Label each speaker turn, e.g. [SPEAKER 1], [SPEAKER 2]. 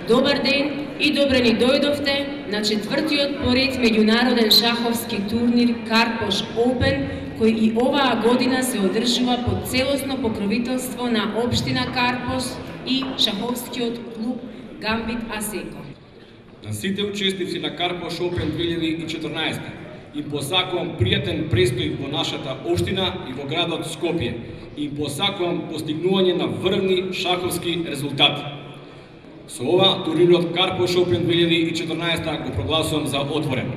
[SPEAKER 1] Добар ден и добре ни дојдовте на четвртиот поред меѓународен шаховски турнир Карпош Опен, кој и оваа година се одржува под целосно покровителство на општина Карпош и шаховскиот клуб Гамбит Асеко.
[SPEAKER 2] На сите учесници на Карпош Опен 2014 им посакувам пријатен престој во нашата општина и во градот Скопје. Им посакувам постигнување на врвни шаховски резултати. Со ова турнирот Карпош Опен 2014 го прогласувам за отворен.